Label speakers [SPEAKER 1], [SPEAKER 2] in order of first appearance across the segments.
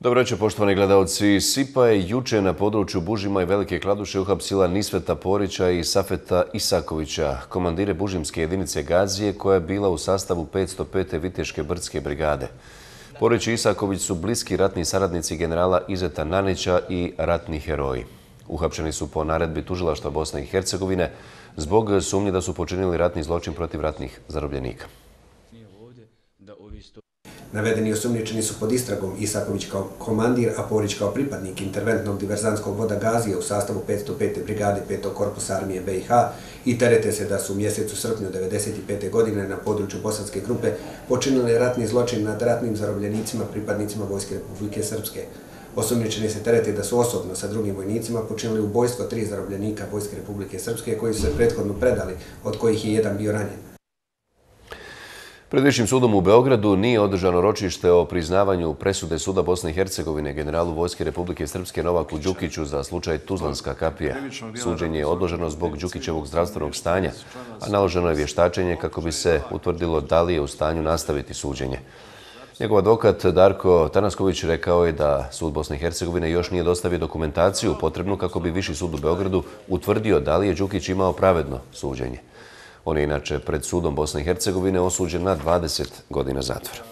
[SPEAKER 1] Dobro večer, poštovani gledalci. SIPA je juče na području Bužima i Velike Kladuše uhapsila Nisveta Porića i Safeta Isakovića, komandire bužimske jedinice Gazije koja je bila u sastavu 505. Viteške brdske brigade. Porić i Isaković su bliski ratni saradnici generala Izeta Nanića i ratni heroji. Uhapšeni su po naredbi tužilaštva Bosne i Hercegovine zbog sumnje da su počinili ratni zločin protiv ratnih zarobljenika.
[SPEAKER 2] Navedeni osumnjičeni su pod istragom Isaković kao komandir, a Porić kao pripadnik interventnog diverzantskog voda Gazije u sastavu 505. brigade 5. korpusa armije BiH i terete se da su u mjesecu srpnju 1995. godine na području Bosanske grupe počinili ratni zločin nad ratnim zarobljenicima pripadnicima Vojske Republike Srpske. Osumnjičeni se terete da su osobno sa drugim vojnicima počinili ubojstvo 3 zarobljenika Vojske Republike Srpske koji su se prethodno predali, od kojih je jedan bio ranjen.
[SPEAKER 1] Pred Višim sudom u Beogradu nije održano ročište o priznavanju presude Suda Bosne i Hercegovine generalu Vojske Republike Srpske Novaku Đukiću za slučaj Tuzlanska kapija. Suđenje je odloženo zbog Đukićevog zdravstvenog stanja, a naloženo je vještačenje kako bi se utvrdilo da li je u stanju nastaviti suđenje. Njegov advokat Darko Tanasković rekao je da Sud Bosne i Hercegovine još nije dostavio dokumentaciju potrebnu kako bi Viši sud u Beogradu utvrdio da li je Đukić imao pravedno suđenje. On je inače pred Sudom Bosne i Hercegovine osuđen na 20 godina zatvora.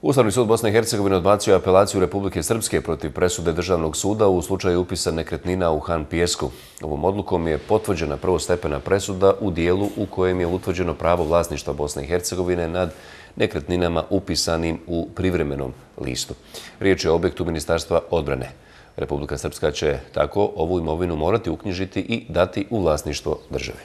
[SPEAKER 1] Ustavni sud Bosne i Hercegovine odbacio je apelaciju Republike Srpske protiv presude Državnog suda u slučaju upisa nekretnina u Han Pijesku. Ovom odlukom je potvrđena prvostepena presuda u dijelu u kojem je utvrđeno pravo vlasništva Bosne i Hercegovine nad nekretninama upisanim u privremenom listu. Riječ je o objektu Ministarstva odbrane. Republika Srpska će tako ovu imovinu morati uknjižiti i dati u vlasništvo države.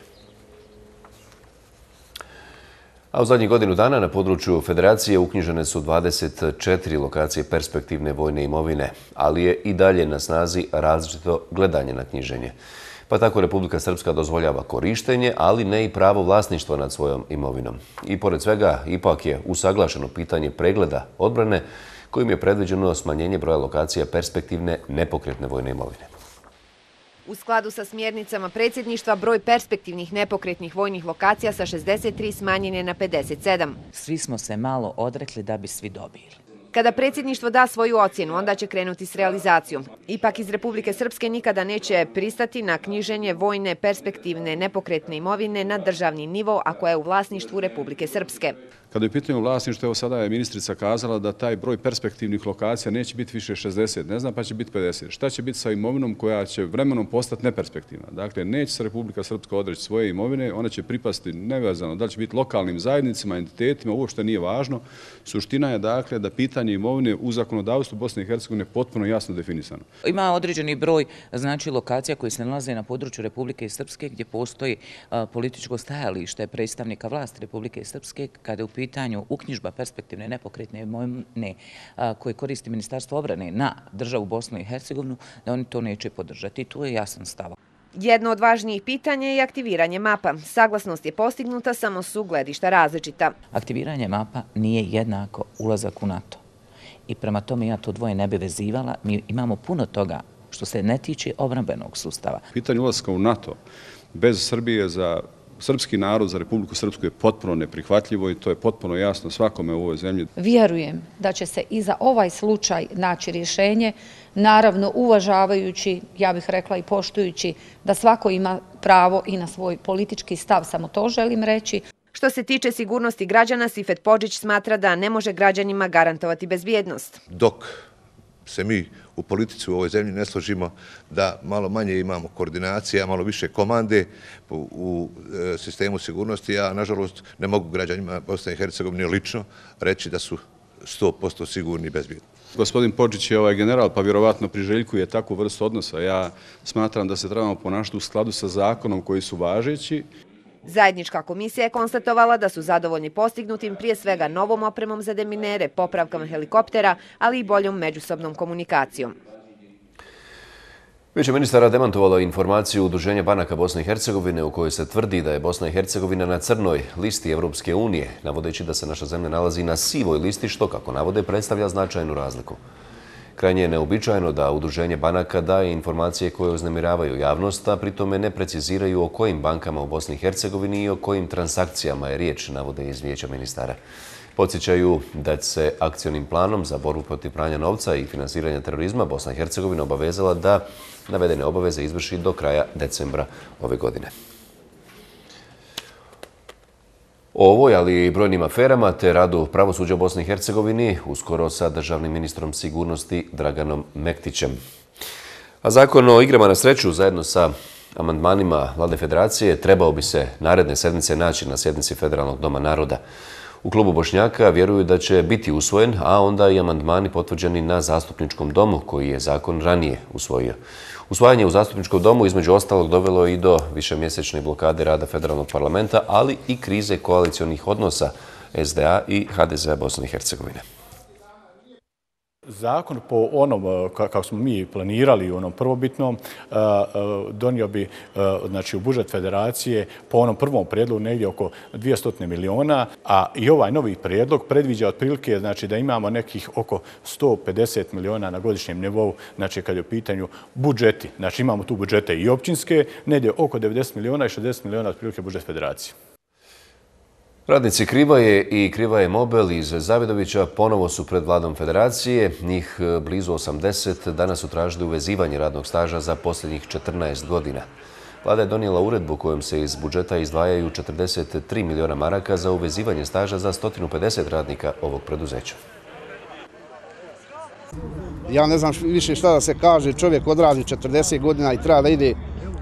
[SPEAKER 1] A u zadnjih godinu dana na području Federacije uknjižene su 24 lokacije perspektivne vojne imovine, ali je i dalje na snazi različito gledanje na knjiženje. Pa tako Republika Srpska dozvoljava korištenje, ali ne i pravo vlasništva nad svojom imovinom. I pored svega, ipak je usaglašeno pitanje pregleda odbrane kojim je predviđeno smanjenje broja lokacija perspektivne nepokretne vojne imovine.
[SPEAKER 3] U skladu sa smjernicama predsjedništva, broj perspektivnih nepokretnih vojnih lokacija sa 63 smanjen je na 57.
[SPEAKER 4] Svi smo se malo odrekli da bi svi dobili.
[SPEAKER 3] Kada predsjedništvo da svoju ocjenu, onda će krenuti s realizacijom. Ipak iz Republike Srpske nikada neće pristati na knjiženje vojne perspektivne nepokretne imovine na državni nivo, ako je u vlasništvu Republike Srpske.
[SPEAKER 5] Kada je u pitanju vlasništvo, evo sada je ministrica kazala da taj broj perspektivnih lokacija neće biti više 60, ne znam, pa će biti 50. Šta će biti sa imovinom koja će vremenom postati neperspektivna? Dakle, neće se Republika Srpska odreći svoje imovine, ona će pripasti nevezano da li će biti lokalnim zajednicama, entitetima, uopšte nije važno. Suština je dakle da pitanje imovine u zakonodavstvu Bosne i Hercegovine je potpuno jasno definisano.
[SPEAKER 4] Ima određeni broj lokacija koje se nalaze na području Republike Srpske gdje postoji političko stajalište predstavnika vlasti Republike Srpske kada je u pitanju uknjižba perspektivne nepokretne imovine koje koristi Ministarstvo odbrane na državu Bosnu i Hercegovinu, da oni to neće podržati. Tu je jasan stav.
[SPEAKER 3] Jedno od važnijih pitanja je aktiviranje mapa. Saglasnost je postignuta, samo su gledišta različita.
[SPEAKER 4] Aktiviranje mapa nije jednako ulazak u NATO. I prema tome ja to dvoje ne bi vezivala. Mi imamo puno toga što se ne tiče obrambenog sustava.
[SPEAKER 5] Pitanje ulaska u NATO bez Srbije za srpski narod, za Republiku Srpsku je potpuno neprihvatljivo i to je potpuno jasno svakome u ovoj zemlji.
[SPEAKER 6] Vjerujem da će se i za ovaj slučaj naći rješenje, naravno uvažavajući, ja bih rekla i poštujući, da svako ima pravo i na svoj politički stav, samo to želim reći.
[SPEAKER 3] Što se tiče sigurnosti građana, Sifet Podžić smatra da ne može građanima garantovati bezbjednost.
[SPEAKER 7] Dok se mi u politici u ovoj zemlji ne složimo da malo manje imamo koordinacije, a malo više komande u sistemu sigurnosti, ja nažalost ne mogu građanima Bosne i Hercegovine lično reći da su 100% sigurni i bezbjedni.
[SPEAKER 5] Gospodin Podžić je ovaj general, pa vjerovatno priželjkuje takvu vrstu odnosa. Ja smatram da se trebamo ponašati u skladu sa zakonom koji su važeći.
[SPEAKER 3] Zajednička komisija je konstatovala da su zadovoljni postignutim prije svega novom opremom za deminere, popravkama helikoptera, ali i boljom međusobnom komunikacijom.
[SPEAKER 1] Vijeće ministara demantovalo informaciju Udruženja banaka Bosne i Hercegovine u kojoj se tvrdi da je Bosna i Hercegovina na crnoj listi Evropske unije, navodeći da se naša zemlja nalazi na sivoj listi, što, kako navode, predstavlja značajnu razliku. Krajnje je neobičajno da Udruženje banaka daje informacije koje uznemiravaju javnost, a pritome ne preciziraju o kojim bankama u Bosni i Hercegovini i o kojim transakcijama je riječ, navode iz Vijeća ministara. Podsjećaju da se akcionim planom za borbu protiv pranja novca i finansiranja terorizma Bosna i Hercegovina obavezala da navedene obaveze izvrši do kraja decembra ove godine. O ovoj, ali i brojnim aferama te radu pravosuđa u Bosni i Hercegovini uskoro sa državnim ministrom sigurnosti Draganom Mektićem. A zakon o igrama na sreću zajedno sa amandmanima Vlade Federacije trebao bi se naredne sedmice naći na sjednici Federalnog doma naroda. U klubu Bošnjaka vjeruju da će biti usvojen, a onda i amandmani potvrđeni na Zastupničkom domu koji je zakon ranije usvojio. Usvajanje u Zastupničkom domu između ostalog dovelo i do višemjesečne blokade rada Federalnog parlamenta, ali i krize koalicionih odnosa SDA i HDZ Bosne i Hercegovine.
[SPEAKER 8] Zakon po onom, kako smo mi planirali u onom prvobitnom, donio bi znači, u budžet federacije po onom prvom prijedlogu negdje oko 200 miliona, a i ovaj novi prijedlog predviđa otprilike znači, da imamo nekih oko 150 miliona na godišnjem nivou, znači kad je u pitanju budžeti. Znači imamo tu budžete i općinske, negdje oko 90 miliona i 60 miliona otprilike budžet federacije.
[SPEAKER 1] Radnici Krivaje i Krivaje Mobil iz Zavidovića ponovo su pred Vladom Federacije. Njih blizu 80 danas su tražili uvezivanje radnog staža za posljednjih 14 godina. Vlada je donijela uredbu kojom se iz budžeta izdvajaju 43 miliona maraka za uvezivanje staža za 150 radnika ovog preduzeća.
[SPEAKER 9] Ja ne znam više šta da se kaže, čovjek odradi 40 godina i treba da ide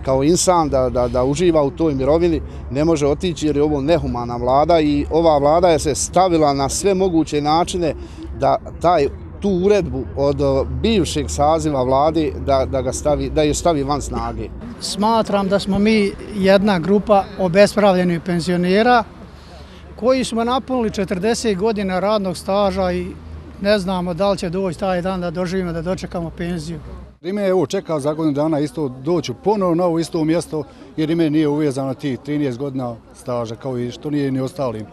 [SPEAKER 9] kao insan, da uživa u toj mirovini, ne može otići jer je ovo nehumana vlada i ova vlada je se stavila na sve moguće načine da tu uredbu od bivšeg saziva vlade da je stavi van snage.
[SPEAKER 10] Smatram da smo mi jedna grupa obespravljenih penzionera koji smo napunili 40 godina radnog staža i ne znamo da li će doći taj dan da doživimo, da dočekamo penziju.
[SPEAKER 11] Rime je čekao za godinu dana isto doći ponovno na ovo isto mjesto jer Rime nije uvezano tih 13 godina staža kao i što nije ni ostalim.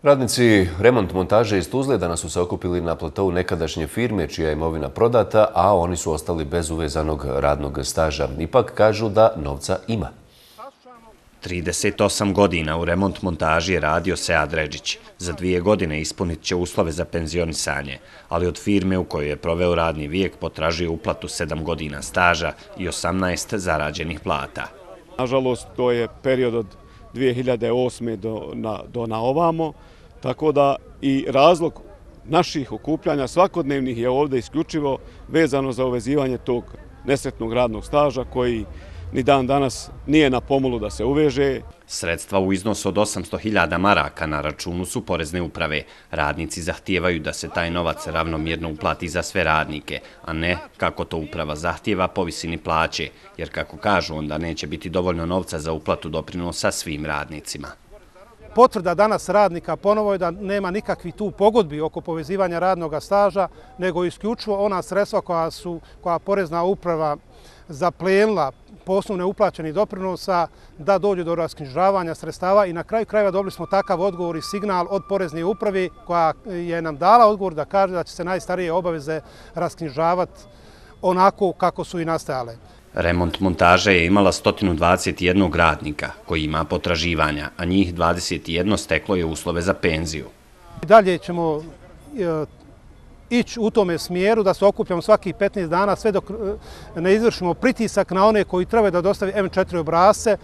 [SPEAKER 1] Radnici remont montaže iz Tuzle danas su se okupili na platovu nekadašnje firme čija je imovina prodata, a oni su ostali bez uvezanog radnog staža. Ipak kažu da novca ima.
[SPEAKER 12] 38 godina u remont montaži je radio Sead Redžić. Za 2 godine ispunit će uslove za penzionisanje, ali od firme u kojoj je proveo radni vijek potražuje uplatu 7 godina staža i 18 zarađenih plata.
[SPEAKER 13] Nažalost, to je period od 2008. do na ovamo, tako da i razlog naših okupljanja svakodnevnih je ovdje isključivo vezano za uvezivanje tog nesretnog radnog staža koji ni dan danas nije na pomolu da se uveže.
[SPEAKER 12] Sredstva u iznosu od 800.000 maraka na računu su porezne uprave. Radnici zahtijevaju da se taj novac ravnomjerno uplati za sve radnike, a ne, kako to uprava zahtijeva, po visini plaće, jer kako kažu, onda neće biti dovoljno novca za uplatu doprinosa svim radnicima.
[SPEAKER 14] Potvrda danas radnika ponovo je da nema nikakvih tu pogodbi oko povezivanja radnog staža, nego isključivo ona sredstva koja porezna uprava zaplenila po osnovu uplaćenih doprinosa da dođe do rasknjižavanja sredstava i na kraju krajeva dobili smo takav odgovor i signal od porezne uprave koja je nam dala odgovor da kaže da će se najstarije obaveze rasknjižavati onako kako su i nastajale.
[SPEAKER 12] Remont montaže je imala 121 radnika koji ima potraživanja, a njih 21 steklo je uslove za penziju.
[SPEAKER 14] Dalje ćemo ići u tome smjeru da se okupljamo svakih 15 dana sve dok ne izvršimo pritisak na one koji trebaju da dostavi M4 obrasce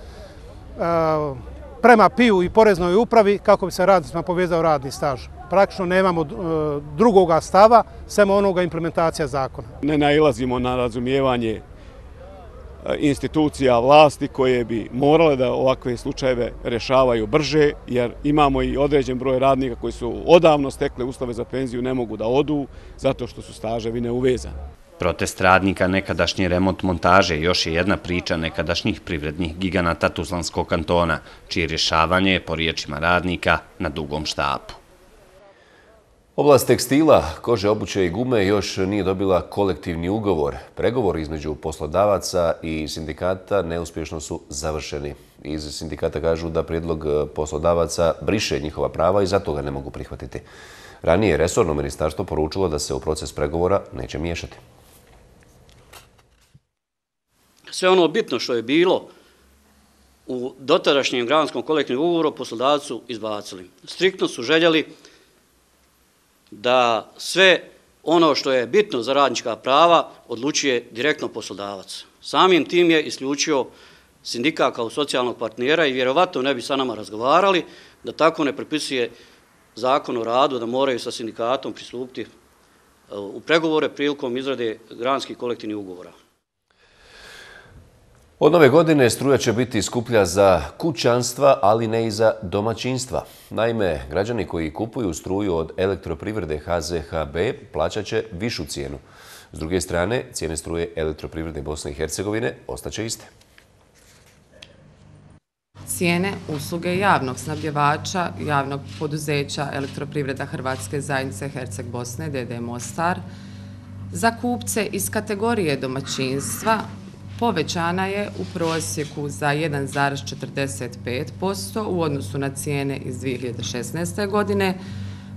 [SPEAKER 14] prema PIU i poreznoj upravi kako bi se radnicima povezao radni staž. Praktično nemamo drugoga stava, samo onoga implementacija zakona.
[SPEAKER 13] Ne nailazimo na razumijevanje institucija vlasti koje bi morale da ovakve slučajeve rešavaju brže, jer imamo i određen broj radnika koji su odavno stekli uslove za penziju, ne mogu da odu zato što su staževi neuvezani.
[SPEAKER 12] Protest radnika nekadašnje remont montaže još je jedna priča nekadašnjih privrednih giganata Tuzlanskog kantona, čije rješavanje je, po riječima radnika, na dugom štapu.
[SPEAKER 1] Oblast tekstila, kože, obuće i gume još nije dobila kolektivni ugovor. Pregovori između poslodavaca i sindikata neuspješno su završeni. Iz sindikata kažu da prijedlog poslodavaca briše njihova prava i zato ga ne mogu prihvatiti. Ranije je resorno ministarstvo poručilo da se u proces pregovora neće miješati.
[SPEAKER 15] Sve ono bitno što je bilo u dotadašnjem granskom kolektivnom ugovoru poslodavcu izbacili. Striktno su željeli da sve ono što je bitno za radnička prava odlučuje direktno poslodavac. Samim tim je isključio sindikat kao socijalnog partnera i vjerovatno ne bi sa nama razgovarali da tako ne prepisuje Zakon o radu, da moraju sa sindikatom pristupiti u pregovore prilikom izrade granskih kolektivnih ugovora.
[SPEAKER 1] Od nove godine struja će biti skuplja za kućanstva, ali ne i za domaćinstva. Naime, građani koji kupuju struju od elektroprivrede HZHB plaćat će višu cijenu. S druge strane, cijene struje elektroprivrede Bosne i Hercegovine ostaće iste.
[SPEAKER 16] Cijene usluge javnog snabdjevača, javnog poduzeća Elektroprivreda Hrvatske zajednice Herceg Bosne, d.d. Mostar, za kupce iz kategorije domaćinstva povećana je u prosjeku za 1,45% u odnosu na cijene iz 2016. godine,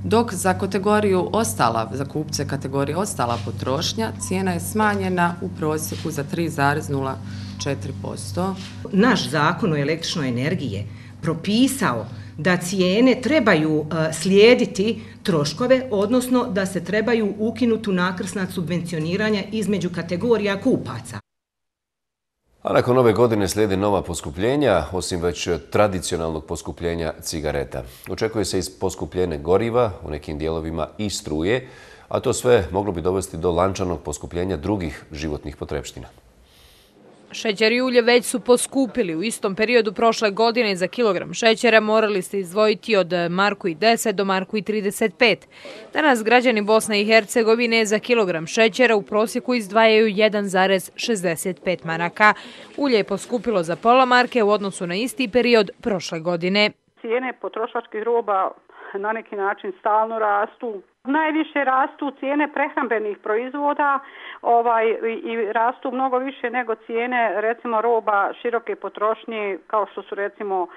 [SPEAKER 16] dok za kategoriju ostala, za kupce kategorije ostala potrošnja, cijena je smanjena u prosjeku za 3,04%.
[SPEAKER 17] Naš zakon o električnoj energiji propisao da cijene trebaju slijediti troškove, odnosno da se trebaju ukinuti nakrsna subvencioniranja između kategorija kupaca.
[SPEAKER 1] A nakon nove godine slijede nova poskupljenja, osim već tradicionalnog poskupljenja cigareta. Očekuje se i poskupljenje goriva, u nekim dijelovima i struje, a to sve moglo bi dovesti do lančanog poskupljenja drugih životnih potrepština.
[SPEAKER 18] Šećer i ulje već su poskupili. U istom periodu prošle godine za kilogram šećera morali ste izdvojiti od $1,10 do $1,35. Danas građani Bosne i Hercegovine za kilogram šećera u prosjeku izdvajaju 1,65 maraka. Ulje je poskupilo za pola marke u odnosu na isti period prošle godine.
[SPEAKER 19] Cijene potrošačkih roba na neki način stalno rastu. Najviše rastu cijene prehrambenih proizvoda i rastu mnogo više nego cijene recimo roba široke potrošnje kao što su recimo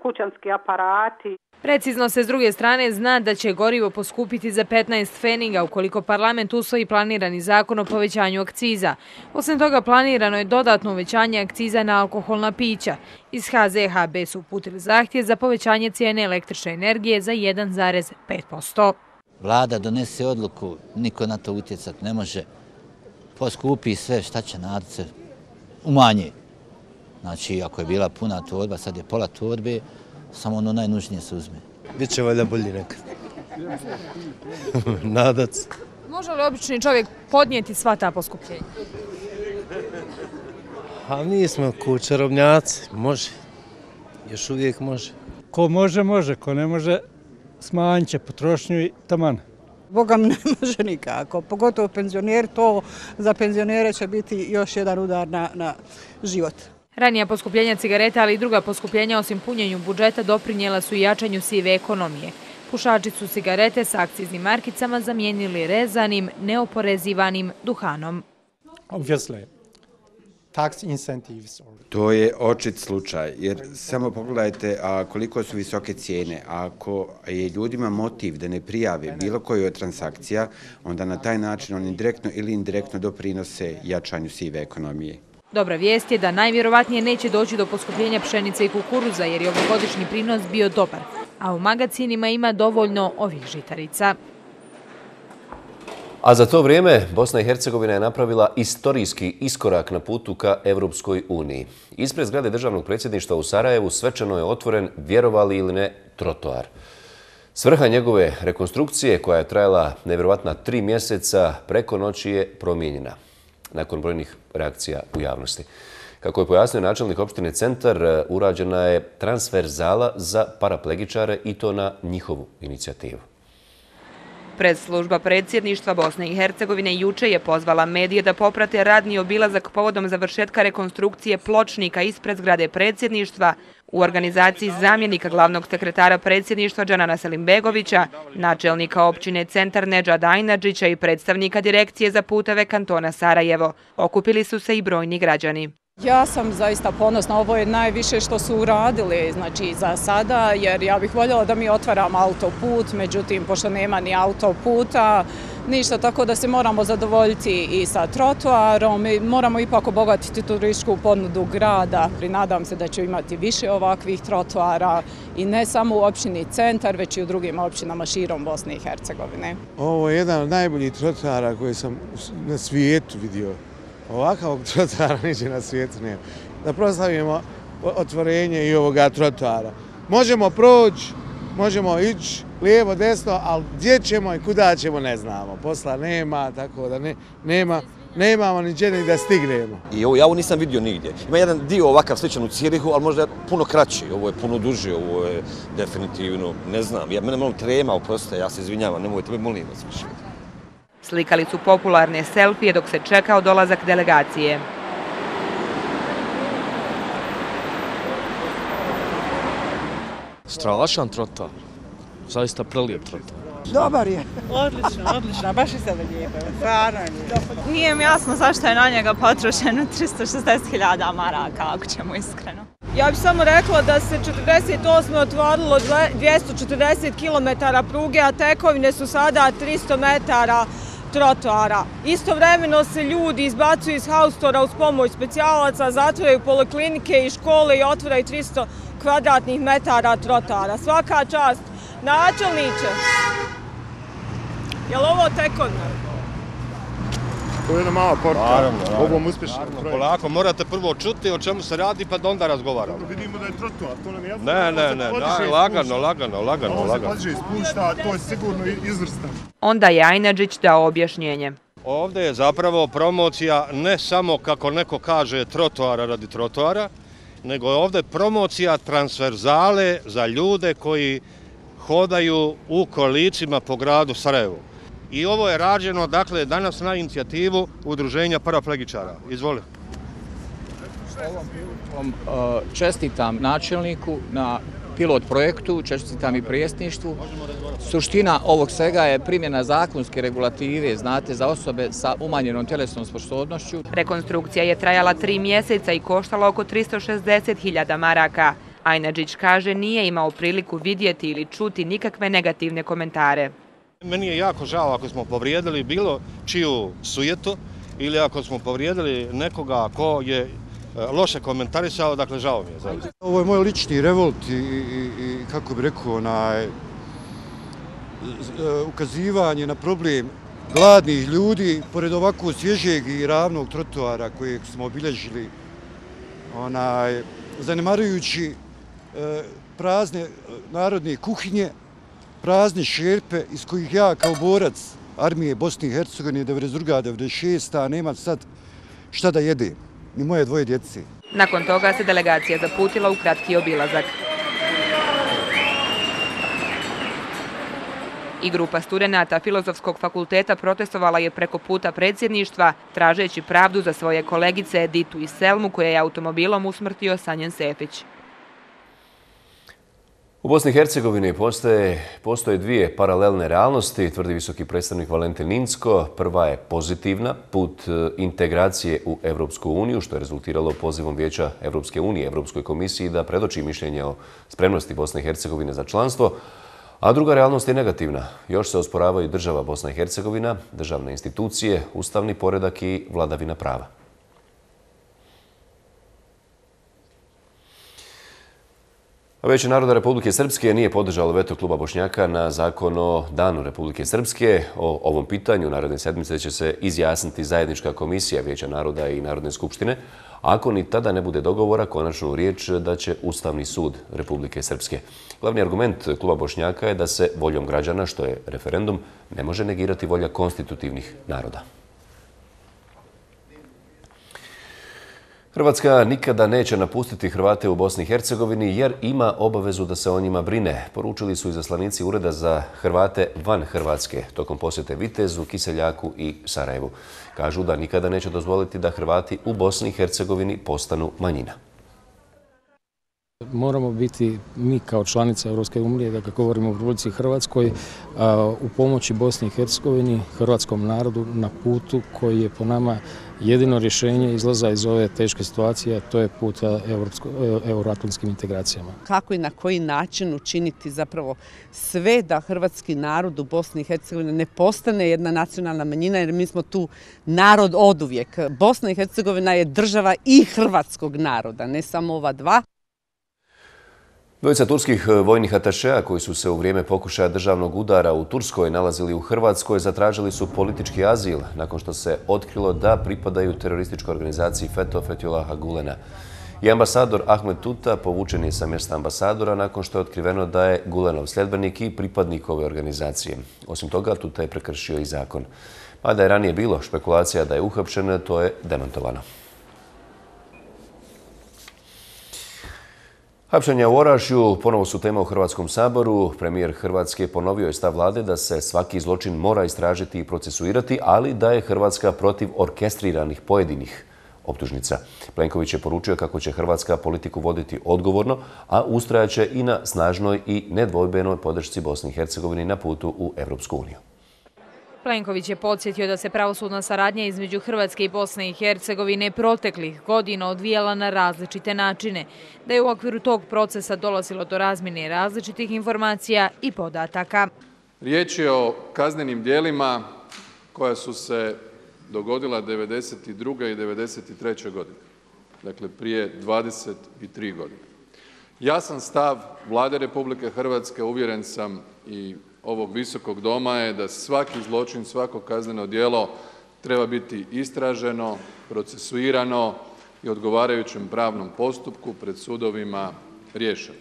[SPEAKER 19] kućanski aparati.
[SPEAKER 18] Precizno se s druge strane zna da će gorivo poskupiti za 15 pfeniga ukoliko parlament usvoji planirani zakon o povećanju akciza. Osim toga planirano je dodatno uvećanje akciza na alkoholna pića. Iz HZHB su uputili zahtjev za povećanje cijene električne energije za 1,5%.
[SPEAKER 20] Vlada donese odluku, niko na to utjecati ne može, poskupi sve, šta će narod se umanje. Znači, ako je bila puna torba, sad je pola torbe, samo ono najnužnije se uzme.
[SPEAKER 21] Biće valjda bolji nekad. Nadac.
[SPEAKER 18] Može li obični čovjek podnijeti sva ta poskupljenja?
[SPEAKER 21] A mi smo čarobnjaci, može. Još uvijek može.
[SPEAKER 22] Ko može, može. Ko ne može, smanjit će potrošnju i taman.
[SPEAKER 23] Boga mi ne može nikako, pogotovo penzioneri, to za penzionere će biti još jedan udar na život.
[SPEAKER 18] Ranija poskupljenja cigareta, ali i druga poskupljenja osim punjenju budžeta doprinijela su i jačanju sive ekonomije. Pušači su cigarete s akciznim markicama zamijenili rezanim, neoporezivanim duhanom.
[SPEAKER 24] To je očit slučaj, jer samo pogledajte koliko su visoke cijene. Ako je ljudima motiv da ne prijave bilo koju od transakcija, onda na taj način oni direktno ili indirektno doprinose jačanju sive ekonomije.
[SPEAKER 18] Dobra vijest je da najvjerovatnije neće doći do poskupljenja pšenice i kukuruza jer je ovogodišnji prinos bio dobar, a u magacinima ima dovoljno ovih žitarica.
[SPEAKER 1] A za to vrijeme Bosna i Hercegovina je napravila istorijski iskorak na putu ka Evropskoj uniji. Ispred zgrade državnog predsjedništva u Sarajevu svečano je otvoren, vjerovali ili ne, trotoar. Svrha njegove rekonstrukcije, koja je trajala nevjerovatna 3 mjeseca, preko noći je promijenjena nakon brojnih reakcija u javnosti. Kako je pojasnio načelnik opštine Centar, urađena je transverzala za paraplegičare i to na njihovu inicijativu.
[SPEAKER 25] Predslužba predsjedništva Bosne i Hercegovine juče je pozvala medije da poprate radni obilazak povodom završetka rekonstrukcije pločnika ispred zgrade predsjedništva u organizaciji zamjenika glavnog sekretara predsjedništva Džanana Selimbegovića, načelnika općine Centar Nedžada Ajnadžića i predstavnika direkcije za puteve kantona Sarajevo. Okupili su se i brojni građani.
[SPEAKER 26] Ja sam zaista ponosna, ovo je najviše što su uradili znači, za sada, jer ja bih voljela da mi otvaramo autoput, međutim, pošto nema ni autoputa, ništa, tako da se moramo zadovoljiti i sa trotoarom i moramo ipak obogatiti turističku ponudu grada. Nadam se da će imati više ovakvih trotoara i ne samo u opštini Centar, već i u drugim opštinama širom Bosne i Hercegovine.
[SPEAKER 2] Ovo je jedan od najboljih trotoara koje sam na svijetu vidio. Ovakvog trotoara niđe na svijetu nema. Da proslavimo otvorenje i ovoga trotoara. Možemo proći, možemo ići lijevo, desno, ali gdje ćemo i kuda ćemo ne znamo. Posla nema, tako da nemamo ni gdje da stignemo.
[SPEAKER 3] I ja ovo nisam vidio nigdje. Ima jedan dio ovakav sličan u Cirihu, ali možda puno kraći. Ovo je puno duži, ovo je definitivno, ne znam. Mene malo trema, oprostite, ja se izvinjavam, nemojte me, molim vas više.
[SPEAKER 25] Slikali su popularne selfije dok se čekao dolazak delegacije.
[SPEAKER 4] Strašan trotoar. Zaista prelijep trotoar.
[SPEAKER 23] Dobar je. Odlično, baš i sebe lijepo. Stvarno je lijepo.
[SPEAKER 5] Nije mi jasno zašto je na njega potrošeno 360.000 maraka, ako ćemo iskreno.
[SPEAKER 26] Ja bih samo rekla da se 48. otvorilo 240 km pruge, a tekovine su sada 300 metara trotoara. Istovremeno se ljudi izbacuju iz haustora uz pomoć specijalaca, zatvaraju poliklinike i škole i otvaraju 300 kvadratnih metara trotoara. Svaka čast. Načelniče, je li ovo tekovina?
[SPEAKER 6] To je jedna mala porta. Ovom uspješno.
[SPEAKER 7] Polako, morate prvo čuti o čemu se radi pa da onda razgovaramo.
[SPEAKER 6] Vidimo da je trotoar, to nam je jasno.
[SPEAKER 7] Ne, lagano.
[SPEAKER 6] Ovo se podiže i spušta, to je sigurno izvrstan.
[SPEAKER 25] Onda je Ajnadžić dao objašnjenje.
[SPEAKER 7] Ovdje je zapravo promocija ne samo, kako neko kaže, trotoara radi trotoara, nego je ovdje promocija transverzale za ljude koji hodaju u kolicima po gradu Sarajevu. I ovo je rađeno, dakle, danas na inicijativu Udruženja paraplegičara. Izvoli.
[SPEAKER 27] Čestitam načelniku na pilot projektu, čestitam i prijesništvu. Suština ovog svega je primjena zakonske regulative, znate, za osobe sa umanjenom tjelesnom sposobnošću.
[SPEAKER 25] Rekonstrukcija je trajala 3 mjeseca i koštala oko 360.000 maraka. Ajnadžić kaže nije imao priliku vidjeti ili čuti nikakve negativne komentare.
[SPEAKER 7] Meni je jako žao ako smo povrijedili bilo čiju sujetu ili ako smo povrijedili nekoga ko je loše komentarisao, dakle žao mi je.
[SPEAKER 6] Ovo je moj lični revolt i kako bih rekao, ukazivanje na problem gladnih ljudi pored ovako svježeg i ravnog trotoara kojeg smo obilježili, zanemarujući prazne narodne kuhinje, prazne šerpe iz kojih ja kao borac armije Bosne i Hercegovine 92-96. nemam sad šta da jedem, ni moje 2 djece.
[SPEAKER 25] Nakon toga se delegacija zaputila u kratki obilazak. I grupa studenata Filozofskog fakulteta protestovala je preko puta predsjedništva, tražeći pravdu za svoje kolegice Ditu i Selmu, koje je automobilom usmrtio Sanjen Sefić.
[SPEAKER 1] U Bosni i Hercegovini postoje 2 paralelne realnosti, tvrdi visoki predstavnik Valentin Incko. Prva je pozitivna, put integracije u Evropsku uniju, što je rezultiralo pozivom Vijeća Evropske unije, Evropskoj komisiji da predoči mišljenje o spremnosti Bosne i Hercegovine za članstvo. A druga realnost je negativna. Još se osporavaju država Bosna i Hercegovina, državne institucije, ustavni poredak i vladavina prava. Vijeće naroda Republike Srpske nije podržalo veto kluba Bošnjaka na zakon o Danu Republike Srpske. O ovom pitanju naredne sedmice će se izjasniti zajednička komisija Vijeća naroda i Narodne skupštine. Ako ni tada ne bude dogovora, konačnu riječ da će Ustavni sud Republike Srpske. Glavni argument kluba Bošnjaka je da se voljom građana, što je referendum, ne može negirati volja konstitutivnih naroda. Hrvatska nikada neće napustiti Hrvate u Bosni i Hercegovini jer ima obavezu da se o njima brine, poručili su izaslanici Ureda za Hrvate van Hrvatske tokom posjete Vitezu, Kiseljaku i Sarajevu. Kažu da nikada neće dozvoliti da Hrvati u Bosni i Hercegovini postanu manjina.
[SPEAKER 4] Moramo biti mi kao članica Europske unije, da kako govorimo o Republici Hrvatskoj, u pomoći Bosni i Hercegovini, hrvatskom narodu na putu koji je po nama jedino rješenje izlaza iz ove teške situacije, to je put euroatlantskim integracijama.
[SPEAKER 8] Kako i na koji način učiniti zapravo sve da hrvatski narod u Bosni i Hercegovini ne postane jedna nacionalna manjina, jer mi smo tu narod oduvijek. Bosna i Hercegovina je država i hrvatskog naroda, ne samo ova dva.
[SPEAKER 1] Dvojica turskih vojnih atašeja koji su se u vrijeme pokušaja državnog udara u Turskoj nalazili u Hrvatskoj zatražili su politički azil nakon što se otkrilo da pripadaju terorističkoj organizaciji Fethullaha Gulena. I ambasador Ahmed Tuta povučen je sa mjesta ambasadora nakon što je otkriveno da je Gulenov sljedbenik i pripadnik ove organizacije. Osim toga, Tuta je prekršio i zakon. Mada je ranije bilo špekulacija da je uhapšen, to je demantovano. Hapšenja u Orašju ponovo su tema u Hrvatskom saboru. Premijer Hrvatske ponovio je stav vlade da se svaki zločin mora istražiti i procesuirati, ali da je Hrvatska protiv orkestriranih pojedinih optužnica. Plenković je poručio kako će Hrvatska politiku voditi odgovorno, a ustrajaće i na snažnoj i nedvojbenoj podršci Bosni i Hercegovini na putu u Evropsku uniju.
[SPEAKER 18] Plenković je podsjetio da se pravosudna saradnja između Hrvatske i Bosne i Hercegovine proteklih godina odvijala na različite načine, da je u okviru tog procesa dolazilo do razmjene različitih informacija i podataka.
[SPEAKER 9] Riječ je o kaznenim djelima koja su se dogodila 1992. i 1993. godine, dakle prije 23 godine. Jasan stav Vlade Republike Hrvatske, uvjeren sam i ovog visokog doma, je da svaki zločin, svako kazneno djelo treba biti istraženo, procesuirano i odgovarajućem pravnom postupku pred sudovima riješeno.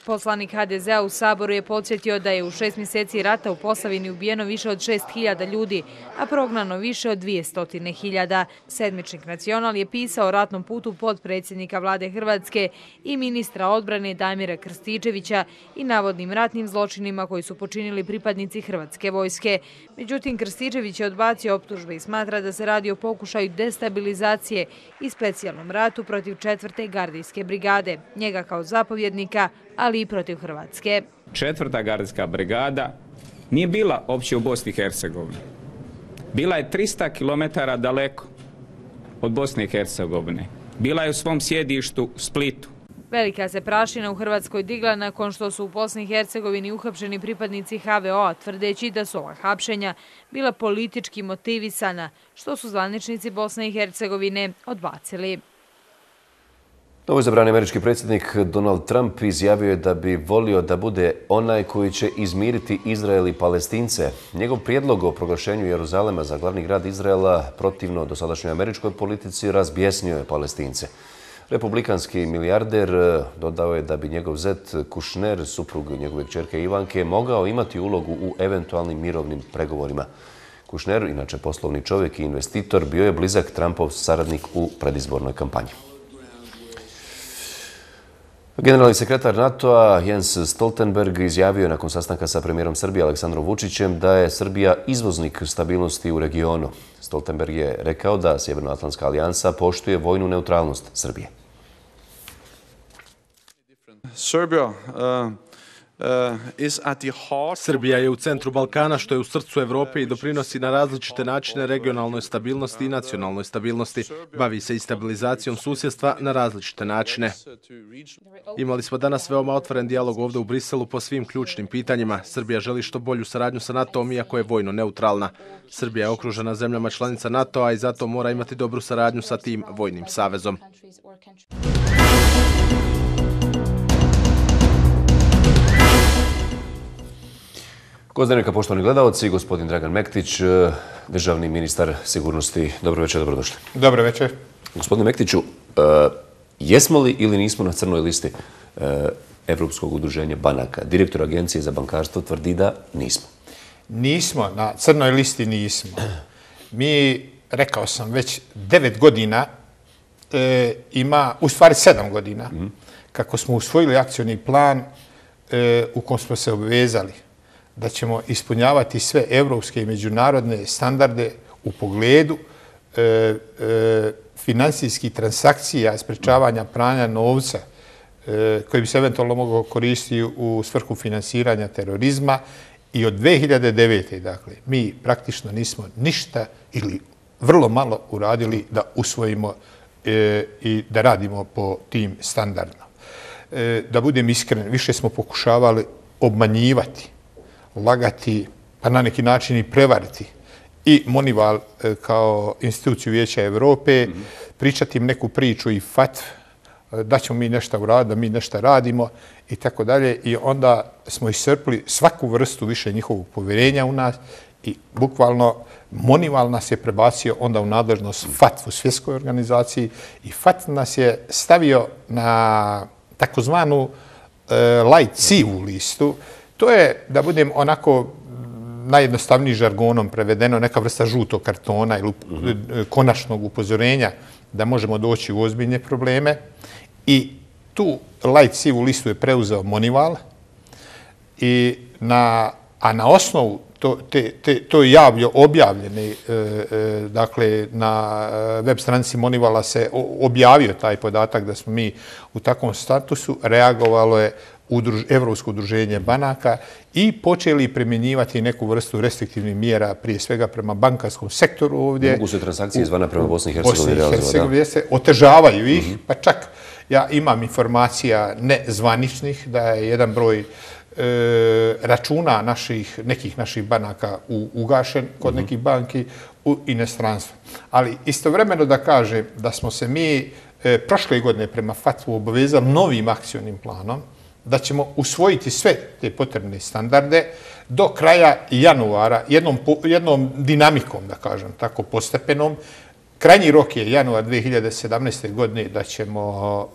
[SPEAKER 18] Poslanik HDZ-a u Saboru je podsjetio da je u 6 mjeseci rata u Posavini ubijeno više od 6.000 ljudi, a prognano više od 200.000. Sedmičnik Nacional je pisao o ratnom putu potpredsjednika vlade Hrvatske i ministra odbrane Damira Krstičevića i navodnim ratnim zločinima koji su počinili pripadnici Hrvatske vojske. Međutim, Krstičević je odbacio optužbe i smatra da se radi o pokušaju destabilizacije i specijalnom ratu protiv 4. gardijske brigade, njega kao zapovjednika, ali i protiv Hrvatske.
[SPEAKER 10] 4. gardijska brigada nije bila opće u Bosni i Hercegovini. Bila je 300 km daleko od Bosne i Hercegovine. Bila je u svom sjedištu Splitu.
[SPEAKER 18] Velika se prašina u Hrvatskoj digla nakon što su u Bosni i Hercegovini uhapšeni pripadnici HVO-a, tvrdeći da su ova hapšenja bila politički motivisana, što su zvaničnici Bosne i Hercegovine odbacili.
[SPEAKER 1] Novoizabrani američki predsjednik Donald Trump izjavio je da bi volio da bude onaj koji će izmiriti Izrael i Palestince. Njegov prijedlog o proglašenju Jeruzalema za glavni grad Izraela protivno dosadašnjoj američkoj politici razbjesnio je Palestince. Republikanski milijarder dodao je da bi njegov zet Kushner, suprug njegove kćerke Ivanke, mogao imati ulogu u eventualnim mirovnim pregovorima. Kushner, inače poslovni čovjek i investitor, bio je blizak Trumpov saradnik u predizbornoj kampanji. Generalni sekretar NATO-a Jens Stoltenberg izjavio je nakon sastanka sa premijerom Srbije Aleksandrom Vučićem da je Srbija izvoznik stabilnosti u regionu. Stoltenberg je rekao da Sjevernoatlantska alijansa poštuje vojnu neutralnost Srbije.
[SPEAKER 11] Srbija je u centru Balkana, što je u srcu Evrope i doprinosi na različite načine regionalnoj stabilnosti i nacionalnoj stabilnosti. Bavi se i stabilizacijom susjedstva na različite načine. Imali smo danas veoma otvoren dijalog ovdje u Briselu po svim ključnim pitanjima. Srbija želi što bolju saradnju sa NATO-om, iako je vojno neutralna. Srbija je okružena zemljama članica NATO-a i zato mora imati dobru saradnju sa tim vojnim savezom.
[SPEAKER 1] Gozdravljaka, poštovani gledalci, gospodin Dragan Mektić, državni ministar sigurnosti. Dobro večer, dobrodošli.
[SPEAKER 12] Dobro večer.
[SPEAKER 1] Gospodine Mektiću, jesmo li ili nismo na crnoj listi Evropskog udruženja banaka? Direktor Agencije za bankarstvo tvrdi da nismo.
[SPEAKER 12] Nismo, na crnoj listi nismo. Mi, rekao sam, već 9 godina ima, u stvari 7 godina, kako smo usvojili akcioni plan u kojem smo se obvezali da ćemo ispunjavati sve evropske i međunarodne standarde u pogledu finansijskih transakcija, sprečavanja pranja novca koji bi se eventualno mogao koristiti u svrhu finansiranja terorizma. I od 2009. dakle, mi praktično nismo ništa ili vrlo malo uradili da usvojimo i da radimo po tim standardima. Da budem iskren, više smo pokušavali obmanjivati, lagati, pa na neki način i prevariti i Monival kao instituciju Vijeća Evrope, pričati im neku priču i fatv, da ćemo mi nešto uraditi, da mi nešto radimo i tako dalje. I onda smo iscrpili svaku vrstu više njihovog povjerenja u nas i bukvalno Monival nas je prebacio onda u nadležnost FATF u svjetskoj organizaciji i FATF nas je stavio na takozvanu light sivu listu. To je, da budem onako najjednostavniji žargonom prevedeno, neka vrsta žutog kartona ili konačnog upozorenja da možemo doći u ozbiljne probleme. I tu light sivu listu je preuzeo Monival, a na osnovu to je javno objavljeno, dakle na web stranici Monivala se objavio taj podatak da smo mi u takvom statusu, reagovalo je Evropsko udruženje banaka i počeli primjenjivati neku vrstu restriktivnih mjera, prije svega prema bankarskom sektoru ovdje.
[SPEAKER 1] Mogu se transakcije izvana prema Bosni i Hercegovini
[SPEAKER 12] realizovati? Otežavaju ih, pa čak ja imam informacija nezvaničnih da je jedan broj računa nekih naših banaka ugašen kod nekih banki u inostranstvu. Ali istovremeno da kažem da smo se mi prošle godine prema FATF-u obavezali novim akcionim planom, da ćemo usvojiti sve te potrebne standarde do kraja januara, jednom dinamikom, da kažem, tako postepenom. Krajnji rok je januar 2017. godine da ćemo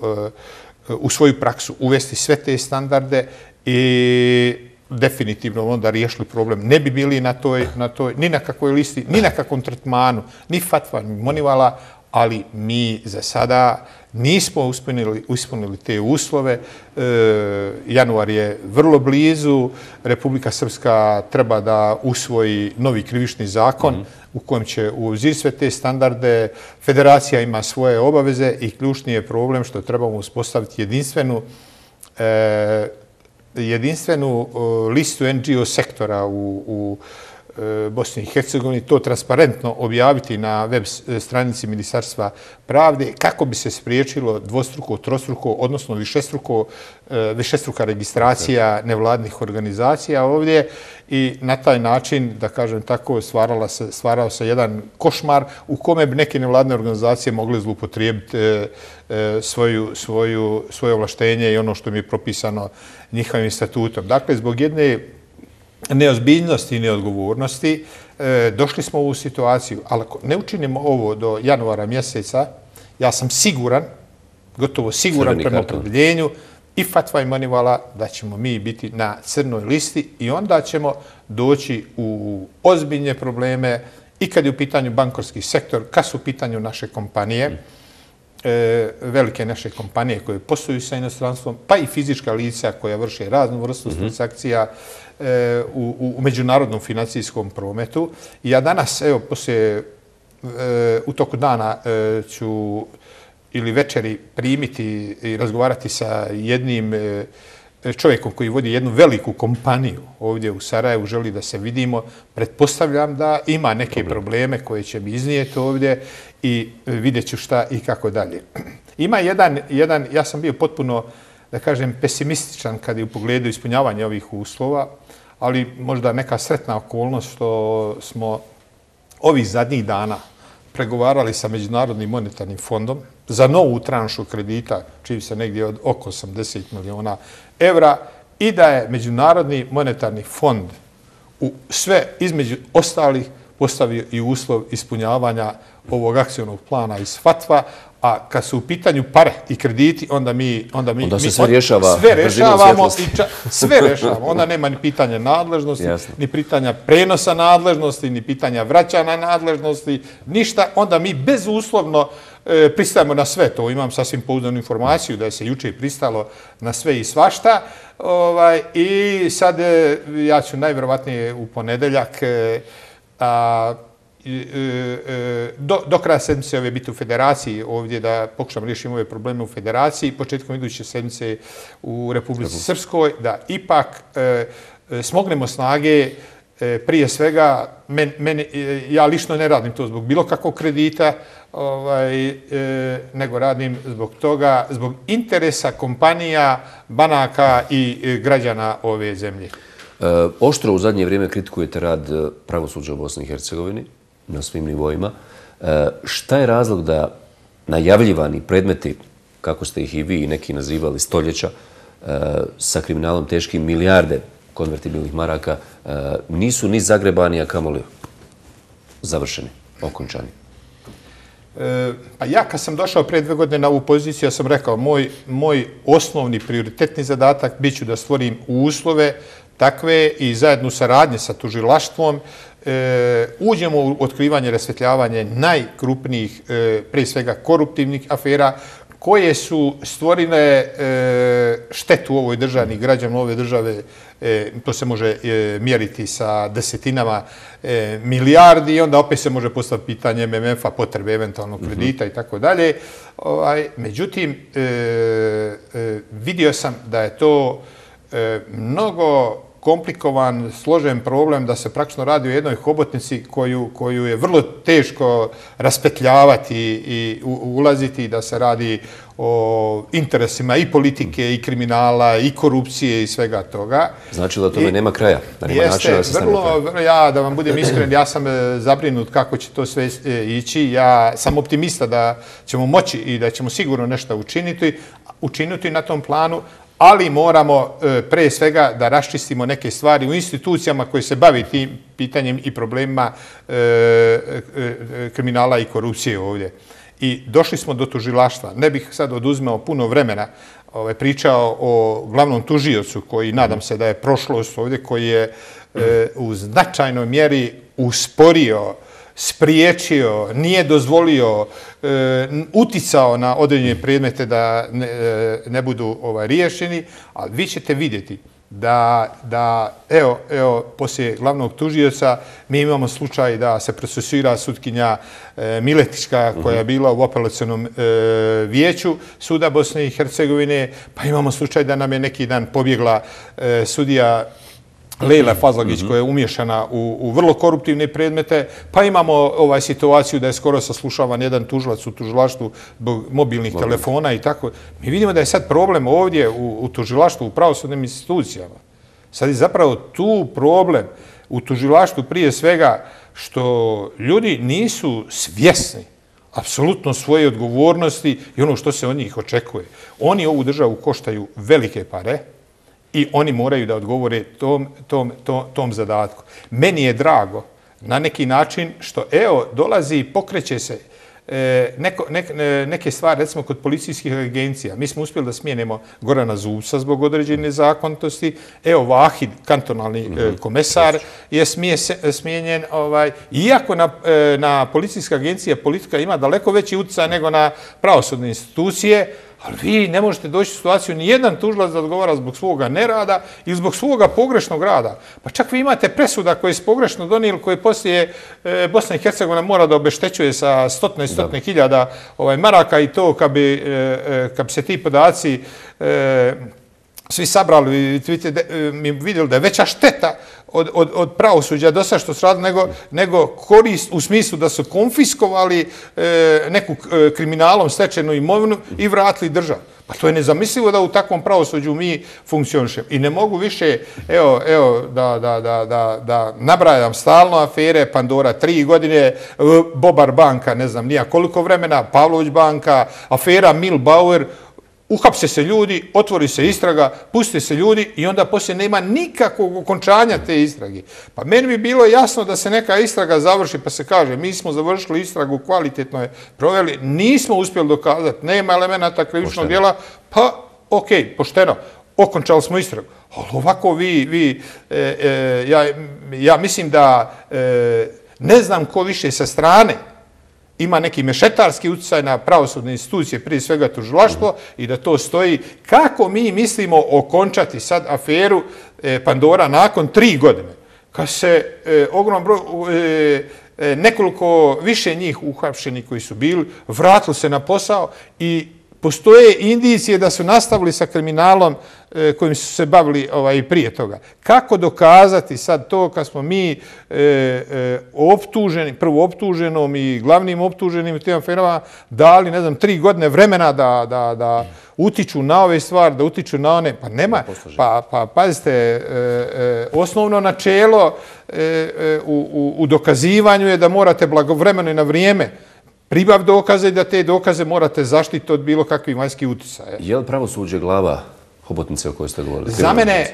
[SPEAKER 12] u svoju praksu uvesti sve te standarde i definitivno onda riješili problem. Ne bi bili ni na kakvoj listi, ni na kakvom tretmanu, ni FATF-a, ni Monivala, ali mi za sada nismo ispunili te uslove. Januar je vrlo blizu. Republika Srpska treba da usvoji novi krivični zakon u kojem će uzeti sve te standarde. Federacija ima svoje obaveze i ključni je problem što trebamo uspostaviti jedinstvenu listu NGO sektora u Bosni i Hercegovini, to transparentno objaviti na web stranici Ministarstva pravde kako bi se spriječilo dvostruko, trostruko, odnosno višestruka registracija nevladnih organizacija ovdje i na taj način, da kažem tako, stvarao se jedan košmar u kome bi neke nevladne organizacije mogle zloupotrijebiti svoje ovlaštenje i ono što mi je propisano njihovim statutom. Dakle, zbog jedne neozbiljnosti i neodgovornosti došli smo u ovu situaciju, ali ako ne učinimo ovo do januara mjeseca, ja sam siguran, gotovo siguran prema opredjeljenju i FATF-a i Monivala da ćemo mi biti na crnoj listi i onda ćemo doći u ozbiljne probleme i kad je u pitanju bankarski sektor, kad su u pitanju naše kompanije, velike naše kompanije koje posluju sa inostranstvom, pa i fizička lica koja vrše raznu vrstu transakcija u međunarodnom financijskom prometu. I ja danas, evo, u toku dana ću ili večeri primiti i razgovarati sa jednim čovjekom koji vodi jednu veliku kompaniju ovdje u Sarajevu, želi da se vidimo. Pretpostavljam da ima neke probleme koje će mi iznijeti ovdje i vidjet ću šta i kako dalje. Ima jedan, ja sam bio potpuno, da kažem, pesimističan kad je u pogledu ispunjavanja ovih uslova, ali možda neka sretna okolnost što smo ovih zadnjih dana pregovarali sa Međunarodnim monetarnim fondom za novu tranšu kredita, čiji se negdje od oko 80 miliona evra, i da je Međunarodni monetarni fond u sve između ostalih postavio i uslov ispunjavanja ovog akcionog plana iz FATF-a, a kad su u pitanju pare i krediti, onda
[SPEAKER 1] se sve rješava.
[SPEAKER 12] Sve rješavamo. Onda nema ni pitanja nadležnosti, ni pitanja prenosa nadležnosti, ni pitanja vraćanja nadležnosti, ništa. Onda mi bezuslovno pristajemo na sve to. Imam sasvim pouzdanu informaciju da je se juče pristalo na sve i svašta. I sad ja ću najvjerovatnije u ponedeljak do kraja sedmice ove biti u federaciji ovdje da pokušam riješiti ove probleme u federaciji, početkom iduće sedmice u Republici Srpskoj, da ipak smognemo snage prije svega, ja lično ne radim to zbog bilo kakvog kredita, nego radim zbog toga, zbog interesa kompanija, banaka i građana ove zemlje.
[SPEAKER 1] Oštro u zadnje vrijeme kritikujete rad pravosuđa u Bosni i Hercegovini na svim nivoima. Šta je razlog da najavljivani predmeti, kako ste ih i vi i neki nazivali stoljeća, sa kriminalom teškim milijarde konvertibilnih maraka, nisu ni zagrebani, a kamoli završeni, okončani?
[SPEAKER 12] Pa ja kad sam došao prije 2 godine na ovu poziciju, ja sam rekao, moj osnovni prioritetni zadatak bit ću da stvorim uslove takve i zajedno saradnje sa tužilaštvom uđemo u otkrivanje, rasvetljavanje najkrupnijih, prije svega koruptivnih afera, koje su stvorile štetu u ovoj državi, građanima ove države, to se može mjeriti sa desetinama milijardi i onda opet se može postaviti pitanje MMF-a, potrebe eventualnog kredita i tako dalje. Međutim, vidio sam da je to mnogo komplikovan, složen problem, da se praktično radi o jednoj hobotnici koju je vrlo teško raspetljavati i ulaziti, da se radi o interesima i politike, i kriminala, i korupcije i svega toga.
[SPEAKER 1] Znači da tome nema kraja?
[SPEAKER 12] Jeste, vrlo, ja da vam budem iskren, ja sam zabrinut kako će to sve ići. Ja sam optimista da ćemo moći i da ćemo sigurno nešto učiniti na tom planu, ali moramo pre svega da raščistimo neke stvari u institucijama koje se bavi tim pitanjem i problemima kriminala i korupcije ovdje. I došli smo do tužilaštva. Ne bih sad oduzmeo puno vremena, pričao o glavnom tužiocu koji, nadam se da je prošlost ovdje, koji je u značajnoj mjeri usporio, spriječio, nije dozvolio, uticao na određene predmete da ne budu riješeni, ali vi ćete vidjeti da evo, poslije glavnog tužioca mi imamo slučaj da se procesuira sutkinja Miletićka koja je bila u apelacionom vijeću Suda Bosne i Hercegovine, pa imamo slučaj da nam je neki dan pobjegla sudija Lejla Fazlagić koja je umješana u vrlo koruptivne predmete, pa imamo situaciju da je skoro saslušavan jedan tužilac u tužilaštvu zbog mobilnih telefona i tako. Mi vidimo da je sad problem ovdje u tužilaštvu, u pravosudnim institucijama. Sad je zapravo tu problem u tužilaštvu prije svega što ljudi nisu svjesni apsolutno svoje odgovornosti i ono što se od njih očekuje. Oni ovu državu koštaju velike pare, i oni moraju da odgovore tom zadatku. Meni je drago na neki način što, evo, dolazi i pokreće se neke stvari, recimo kod policijskih agencija. Mi smo uspjeli da smijenimo Gorana Zubca zbog određene nezakonitosti. Evo, Vahid, kantonalni komesar, je smijenjen. Iako na policijska agencija politika ima daleko veći utjecaj nego na pravosudne institucije, ali vi ne možete doći u situaciju ni jedan tužilac da odgovara zbog svoga nerada ili zbog svoga pogrešnog rada. Pa čak vi imate presuda koje su pogrešno donijeli, koje poslije Bosna i Hercegovina mora da obeštećuje sa stotine hiljada maraka i to kad bi se ti podaci svi sabrali, mi vidjeli da je veća šteta od pravosuđa do sada što su radili nego korist u smislu da su konfiskovali neku kriminalom stečenu imovinu i vratili državu. Pa to je nezamislivo da u takvom pravosuđu mi funkcionišemo. I ne mogu više, evo, da nabrajam stalno afere, Pandora 3 godine, Bobar banka, ne znam nija koliko vremena, Pavlović banka, afera Milbauer, uhapse se ljudi, otvori se istraga, puste se ljudi i onda poslije nema nikakvog okončanja te istrage. Pa meni bi bilo jasno da se neka istraga završi pa se kaže mi smo završili istragu, kvalitetno je proveli, nismo uspjeli dokazati, nema elemenata krivičnog djela, pa ok, pošteno, okončali smo istragu. Ali ovako ja mislim da ne znam ko više sa strane ima neki mešetarski utjecaj na pravosudne institucije, prije svega tužilaštvo, i da to stoji. Kako mi mislimo okončati sad aferu Pandora nakon 3 godine? Kad se ogromno broj, nekoliko više njih uhapšenih koji su bili, vratili se na posao i Postoje indicije da su nastavili sa kriminalom kojim su se bavili prije toga. Kako dokazati sad to kad smo mi prvo optuženom i glavnim optuženim u tim aferama dali, ne znam, 3 godine vremena da utiču na ove stvari, da utiču na one? Pa nema. Pa pazite, osnovno načelo u dokazivanju je da morate blagovremeno i na vrijeme pribav dokaze i da te dokaze morate zaštiti od bilo kakvih vanjskih uticaja.
[SPEAKER 1] Je li pravosuđe glava hobotnice o kojoj ste govorili?
[SPEAKER 12] Za mene,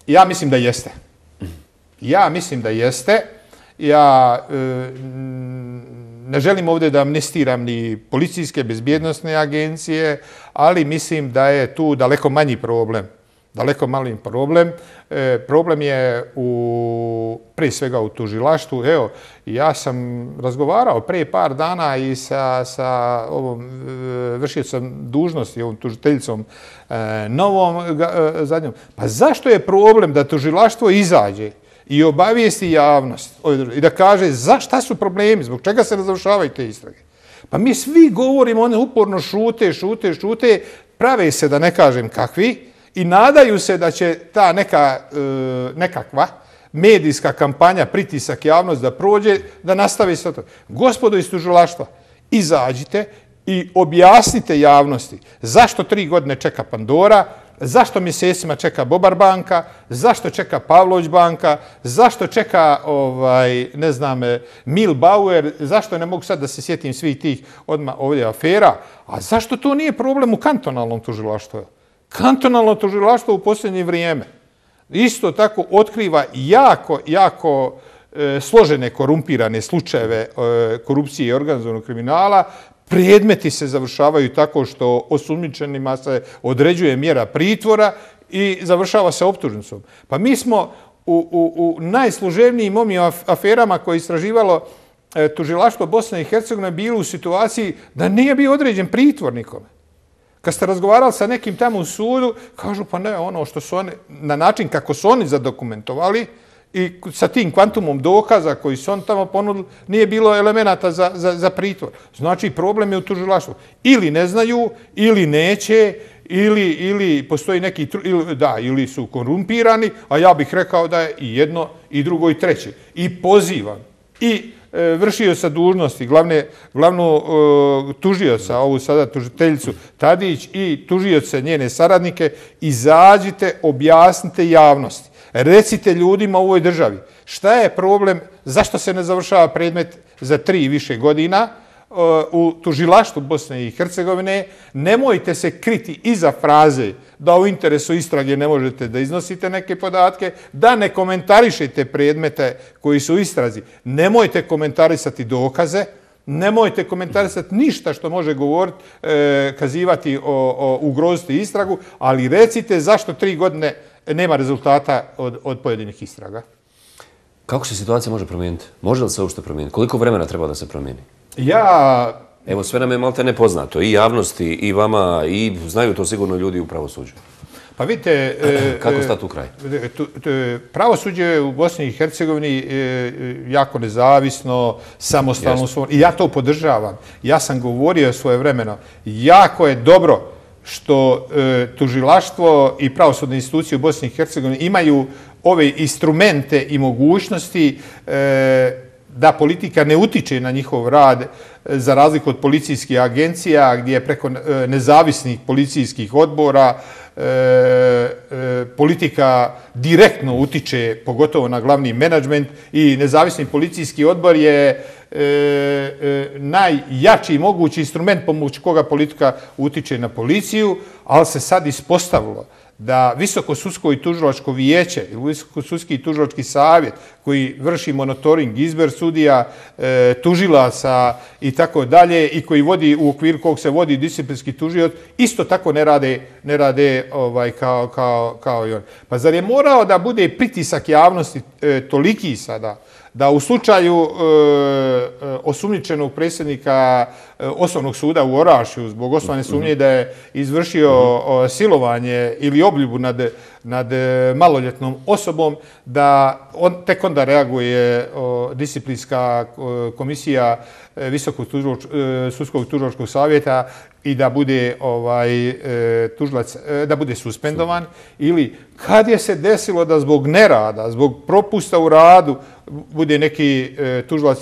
[SPEAKER 12] ja mislim da jeste. Ja mislim da jeste. Ja ne želim ovdje da amnestiram ni policijske bezbjednosne agencije, ali mislim da je tu daleko manji problem. Daleko manji problem. Problem je prije svega u tužilaštvu. Evo, ja sam razgovarao prije par dana i sa ovom vršiocom dužnosti, ovom tužiteljicom novom zadnjom. Pa zašto je problem da tužilaštvo izađe i obavijesti javnost i da kaže šta su problemi, zbog čega se ne završavaju te istrage? Pa mi svi govorimo, one uporno šute, prave se da ne kažem kakvi, i nadaju se da će ta nekakva medijska kampanja, pritisak javnost da prođe, da nastavi sa to. Gospodo iz tužilaštva, izađite i objasnite javnosti zašto 3 godine čeka Pandora, zašto mjesecima čeka Bobar banka, zašto čeka Pavlović banka, zašto čeka, ne znam, Mil Bauer, zašto ne mogu sad da se sjetim svih tih odmah ovdje afera, a zašto to nije problem u kantonalnom tužilaštvu? Kantonalno tužilaštvo u posljednje vrijeme isto tako otkriva jako složene korumpirane slučajeve korupcije i organizovanog kriminala. Predmeti se završavaju tako što osumnjičenima se određuje mjera pritvora i završava se optužnicom. Pa mi smo u najsloženijim ovim aferama koje je istraživalo tužilaštvo Bosne i Hercegovine bili u situaciji da nije bio određen pritvor nikome. Kad ste razgovarali sa nekim tamo u sudu, kažu pa ne, ono što su oni, na način kako su oni zadokumentovali i sa tim kvantumom dokaza koji su oni tamo ponudili, nije bilo elemenata za pritvor. Znači, problem je u tužilaštvu. Ili ne znaju, ili neće, ili postoji neki, ili su korumpirani, a ja bih rekao da je i jedno, i drugo, i treće. I pozivam i vršioca dužnosti, glavnu tužioca, ovu sada tužiteljicu Tadić i tužioce njene saradnike, izađite, objasnite javnosti. Recite ljudima u ovoj državi šta je problem, zašto se ne završava predmet za 3 i više godina u tužilaštvu Bosne i Hercegovine. Nemojte se kriti iza fraze da u interesu istrage ne možete da iznosite neke podatke, da ne komentarišete predmete koji su u istrazi. Nemojte komentarisati dokaze, nemojte komentarisati ništa što može govoriti, kazivati o ugroziti istragu, ali recite zašto 3 godine nema rezultata od pojedinih istraga.
[SPEAKER 1] Kako se situacija može promijeniti? Može li se uopšte promijeniti? Koliko vremena treba da se promijeni?
[SPEAKER 12] Evo,
[SPEAKER 1] sve nam je malte nepoznato, i javnosti, i vama, i znaju to sigurno ljudi u pravosuđu.
[SPEAKER 12] Pa vidite...
[SPEAKER 1] Kako stati u kraj?
[SPEAKER 12] Pravosuđe u Bosni i Hercegovini jako nezavisno, samostalno, i ja to podržavam. Ja sam govorio svojevremeno, jako je dobro što tužilaštvo i pravosudne institucije u Bosni i Hercegovini imaju ove instrumente i mogućnosti da politika ne utiče na njihov rad, za razliku od policijskih agencija gdje preko nezavisnih policijskih odbora politika direktno utiče, pogotovo na glavni menadžment, i nezavisni policijski odbor je najjači mogući instrument pomoću koga politika utiče na policiju, ali se sad ispostavilo da Visokosudsko i tužilačko vijeće ili Visokosudski i tužilački savjet koji vrši monitoring, izbor sudija, tužilaca i tako dalje, i koji vodi, u okviru kog se vodi disciplinski tužioc, isto tako ne rade kao i on. Pa zar je morao da bude pritisak javnosti toliki sada da u slučaju osumnjičenog predsjednika osnovnog suda u Orašju zbog osnovne sumnje da je izvršio silovanje ili obljubu nad maloljetnom osobom, da tek onda reaguje disciplinska komisija Visokog sudskog tužilačkog savjeta i da bude tužilac, da bude suspendovan, ili kad je se desilo da zbog nerada, zbog propusta u radu bude neki tužilac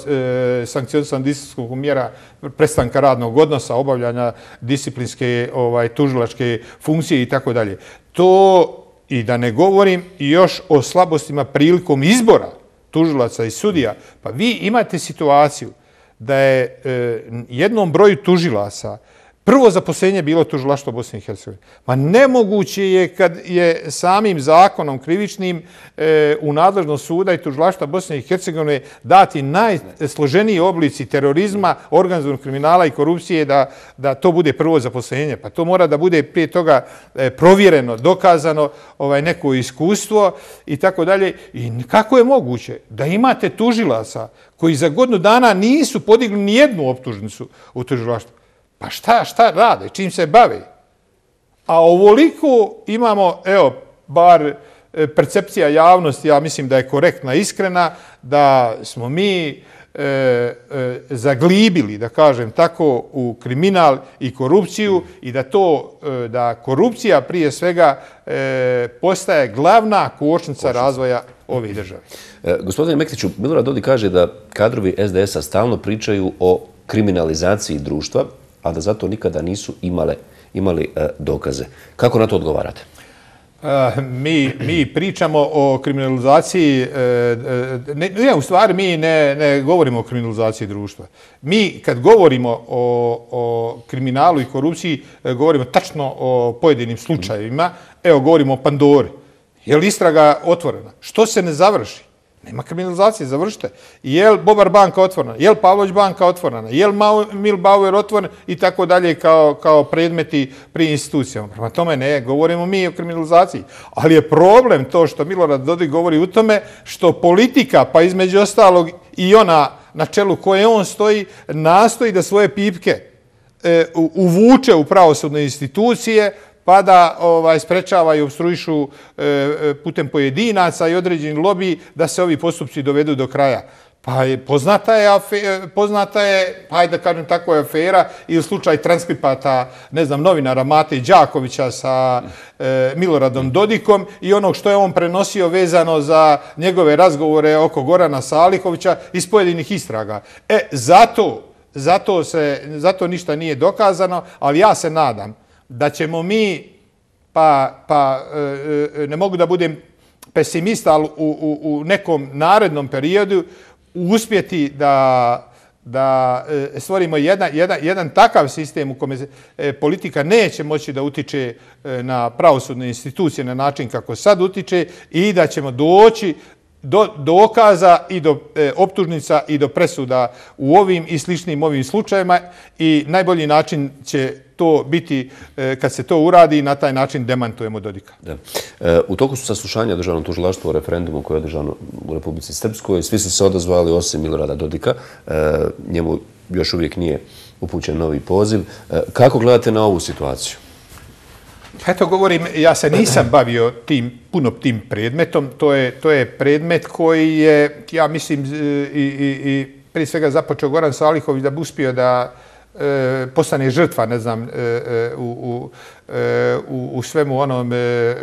[SPEAKER 12] sankcionisan disciplinskom mjera prestanka radnog odnosa, obavljanja disciplinske tužilačke funkcije i tako dalje. To, i da ne govorim još o slabostima prilikom izbora tužilaca i sudija, pa vi imate situaciju da je jednom broju tužilaca prvo zaposlenje bilo tužilaštvo Bosne i Hercegovine. Ma nemoguće je kad je samim zakonom krivičnim u nadležnost suda i tužilaštva Bosne i Hercegovine dati najsloženiji oblici terorizma, organizovanog kriminala i korupcije da to bude prvo zaposlenje. Pa to mora da bude prije toga provjereno, dokazano, neko iskustvo i tako dalje. I kako je moguće da imate tužilaca koji za godinu dana nisu podigli ni jednu optužnicu u tužilaštvu? Pa šta rade, čim se bave? A ovoliko imamo, evo, bar percepcija javnosti, ja mislim da je korektna, iskrena, da smo mi zaglibili, da kažem tako, u kriminal i korupciju i da korupcija prije svega postaje glavna kočnica razvoja ove države.
[SPEAKER 1] Gospodine Mektiću, Milorad Dodik kaže da kadrovi SDS-a stalno pričaju o kriminalizaciji društva, a da zato nikada nisu imali dokaze. Kako na to odgovarate?
[SPEAKER 12] Mi pričamo o kriminalizaciji, u stvari mi ne govorimo o kriminalizaciji društva. Mi kad govorimo o kriminalu i korupciji, govorimo tačno o pojedinim slučajevima. Evo, govorimo o Pandori. Je li istraga otvorena? Što se ne završi? Nema kriminalizacije, završite. Je li Bobar banka otvorena? Je li Pavlović banka otvorena? Je li Milbauer otvoren? I tako dalje kao predmeti pri institucijama. Prema tome ne, govorimo mi o kriminalizaciji. Ali je problem to što Milorad Dodik govori u tome što politika, pa između ostalog i ona na čelu koje on stoji, nastoji da svoje pipke uvuče u pravosudne institucije, pa da sprečava i obstruišu putem pojedinaca i određeni lobiji da se ovi postupci dovedu do kraja. Pa poznata je, hajde da kažem tako, je afera ili slučaj transkripata, ne znam, novinara Mate Đakovića sa Miloradom Dodikom i onog što je on prenosio vezano za njegove razgovore oko Gorana Salihovića iz pojedinih istraga. Zato ništa nije dokazano, ali ja se nadam da ćemo mi, ne mogu da budem pesimista, ali u nekom narednom periodu uspjeti da stvorimo jedan takav sistem u kome politika neće moći da utiče na pravosudne institucije na način kako sad utiče i da ćemo doći do dokaza i do optužnica i do presuda u ovim i sličnim ovim slučajevima i najbolji način će to biti kad se to uradi i na taj način demantujemo Dodika.
[SPEAKER 1] U toku su saslušanja Državnog tužilaštva o referendumu koje je održano u Republici Srpskoj. Svi su se odazvali osim Milorada Dodika. Njemu još uvijek nije upućen novi poziv. Kako gledate na ovu situaciju?
[SPEAKER 12] Eto, govorim, ja se nisam bavio puno tim predmetom. To je predmet koji je, ja mislim, i prije svega započeo Goran Salihović da bi uspio da postane žrtva, ne znam, u svemu onom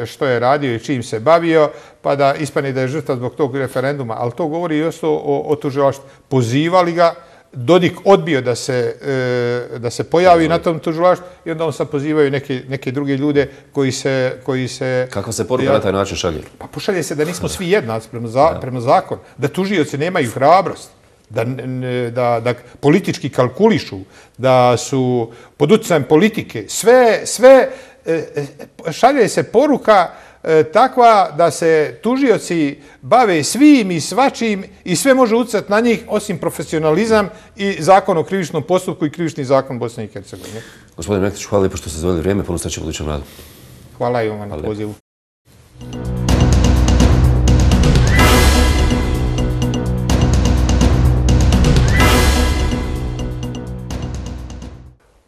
[SPEAKER 12] što je radio i čim se bavio, pa da ispane da je žrtva zbog tog referenduma. Ali to govori i o tužilaštvu. Pozivali ga, Dodik odbio da se pojavi na tom tužilaštvu i onda on sad pozivaju neke druge ljude koji se...
[SPEAKER 1] Kakva se poruka na taj način šalje?
[SPEAKER 12] Pa pošalje se da nismo svi jednaci prema zakonu, da tužioci nemaju hrabrost, da politički kalkulišu, da su pod utjecajem politike. Sve šalje se poruka takva da se tužioci bave svim i svačim i sve može utjecati na njih osim profesionalizam i zakon o krivičnom postupku i krivični zakon Bosne i Hercegovine.
[SPEAKER 1] Gospodine Mektiću, hvala lijepo što ste izdvojili vrijeme, puno sreće u budućem radu.
[SPEAKER 12] Hvala i vam na pozivu.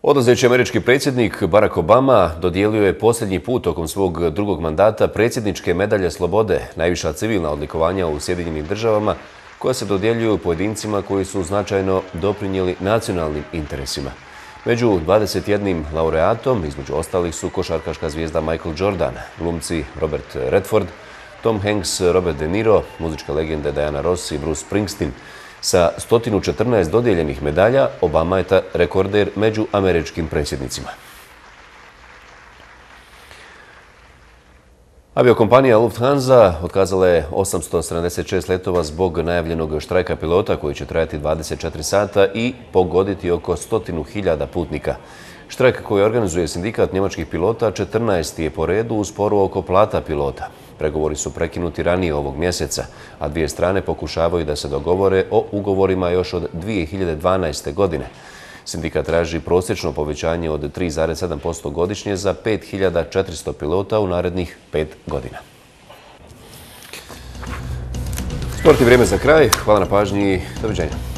[SPEAKER 1] Odlazeći američki predsjednik Barack Obama dodijelio je posljednji put tokom svog drugog mandata predsjedničke medalje slobode, najviša civilna odlikovanja u Sjedinjenim državama, koja se dodjeljuju pojedincima koji su značajno doprinijeli nacionalnim interesima. Među 21 laureatom, između ostalih su košarkaška zvijezda Michael Jordan, glumci Robert Redford, Tom Hanks, Robert De Niro, muzičke legende Diana Ross i Bruce Springsteen. Sa 114 dodijeljenih medalja, Obama je rekorder među američkim predsjednicima. Aviokompanija Lufthansa otkazala je 876 letova zbog najavljenog štrajka pilota koji će trajati 24 sata i pogoditi oko 100.000 putnika. Štrajk koji organizuje sindikat njemačkih pilota 14. je po redu u sporu oko plata pilota. Pregovori su prekinuti ranije ovog mjeseca, a dvije strane pokušavaju da se dogovore o ugovorima još od 2012. godine. Sindikat traži prosječno povećanje od 3,7% godišnje za 5.400 pilota u narednih 5 godina. Sport i vrijeme za kraj. Hvala na pažnji. Doviđenja.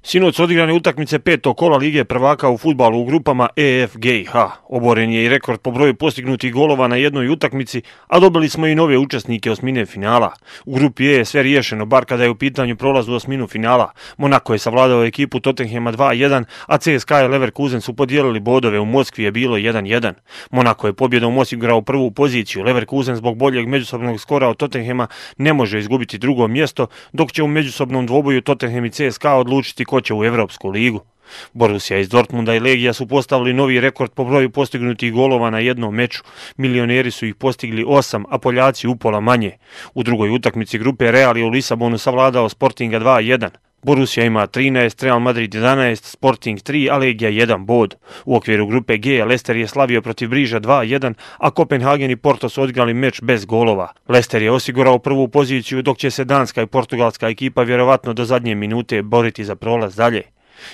[SPEAKER 13] Sinoć odigrane utakmice 5. kola Lige prvaka u fudbalu u grupama EF-GH. Oboren je i rekord po broju postignutih golova na jednoj utakmici, a dobili smo i nove učesnike osmine finala. U grupi E je sve riješeno, bar kada je u pitanju prolaz u osminu finala. Monako je savladao ekipu Tottenhema 2-1, a CSKA i Leverkusen su podijelili bodove, u Moskvi je bilo 1-1. Monako je pobjedom osigurao prvu poziciju, Leverkusen zbog boljeg međusobnog skora od Tottenhema ne može izgubiti drugo mjesto, dok će u međusobnom dvoboju Tottenham i CSKA odlučiti ko će u Evropsku ligu. Borussia iz Dortmunda i Legija su postavili novi rekord po broju postignutih golova na jednom meču. Milioneri su ih postigli 8, a Poljaci upola manje. U drugoj utakmici grupe Real je u Lisabonu savladao Sportinga 2-1. Borussia ima 13, Real Madrid 11, Sporting 3, a Legija 1 bod. U okviru grupe G Leicester je slavio protiv Briža 2-1, a Kopenhagen i Porto su odigrali meč bez golova. Leicester je osigurao prvu poziciju, dok će se danska i portugalska ekipa vjerovatno do zadnje minute boriti za prolaz dalje.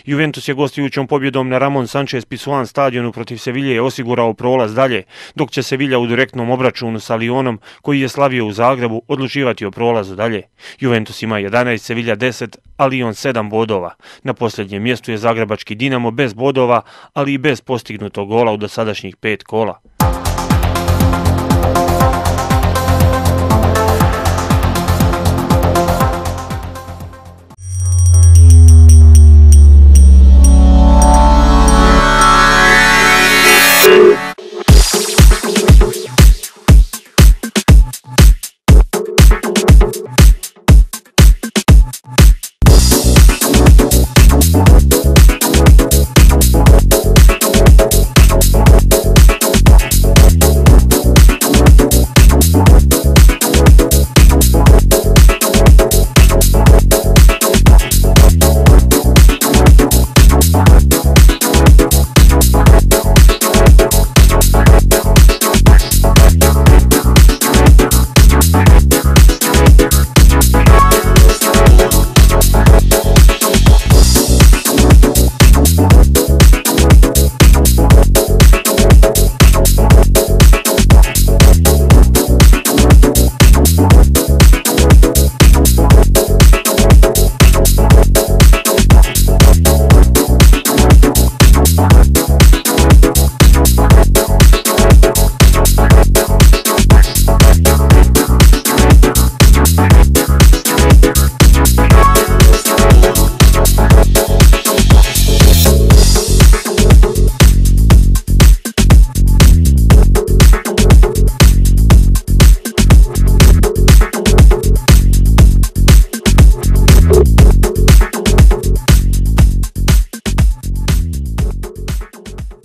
[SPEAKER 13] Juventus je gostujućom pobjedom na Ramon Sanchez Pizjuan stadionu protiv Sevilje osigurao prolaz dalje, dok će Sevilla u direktnom obračunu sa Lyonom, koji je slavio u Zagrebu, odlučivati o prolazu dalje. Juventus ima 11, Sevilla 10, a Lyon 7 bodova. Na posljednjem mjestu je zagrebački Dinamo bez bodova, ali i bez postignutog gola u dosadašnjih 5 kola.